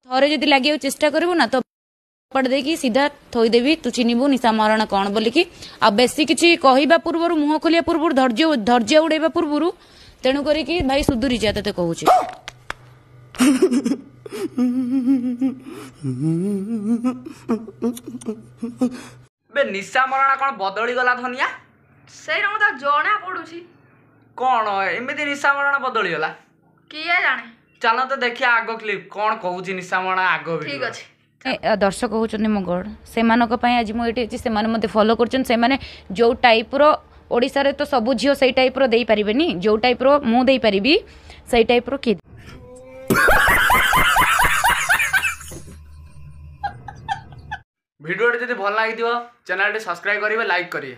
ଥରେ ଯଦି ଲାଗିବାକୁ ଚେଷ୍ଟା କରିବୁ ନା, ତ ଦେଇକି ସିଧା ଥୋଇଦେବି, ତୁ ଚିହ୍ନିବୁ ନିଶା ମହାରଣା କ'ଣ ବୋଲିକି। ଆଉ ବେଶୀ କିଛି କହିବା ପୂର୍ବରୁ, ମୁହଁ ଖୋଲିବା ପୂର୍ବରୁ, ଧୈର୍ଯ୍ୟ ଉଡେଇବା ପୂର୍ବରୁ, ତେଣୁ କରିକି ଭାଇ ସୁଧୁରି ଯା, ତତେ କହୁଛି। ବେ, ନିଶା ମରଣା କ'ଣ ବଦଳିଗଲା ଧନିଆ? ସେଇଟା ମତେ ଜଣା ପଡୁଛି। କ'ଣ ଏମିତି ନିଶା ମରଣା ବଦଳିଗଲା, କିଏ ଜାଣେ? ଚାଲ ତ ଦେଖିବା ଆଗ କ୍ଲିପ୍, କ'ଣ କହୁଛି ନିଶା ମରଣା ଆଗ। ଠିକ ଅଛି। ଦର୍ଶକ ହେଉଛନ୍ତି ମୋ ଗଡ଼, ସେମାନଙ୍କ ପାଇଁ ଆଜି ମୁଁ ଏଇଠି ଅଛି। ସେମାନେ ମୋତେ ଫଲୋ କରୁଛନ୍ତି। ସେମାନେ ଯେଉଁ ଟାଇପ୍ର, ଓଡ଼ିଶାରେ ତ ସବୁ ଝିଅ ସେଇ ଟାଇପ୍ର ଦେଇପାରିବେନି, ଯେଉଁ ଟାଇପ୍ର ମୁଁ ଦେଇପାରିବି ସେଇ ଟାଇପ୍ର କିଏ। ଭିଡ଼ିଓଟି ଯଦି ଭଲ ଲାଗିଥିବ, ଚ୍ୟାନେଲଟି ସବସ୍କ୍ରାଇବ୍ କରିବେ, ଲାଇକ୍ କରିବେ।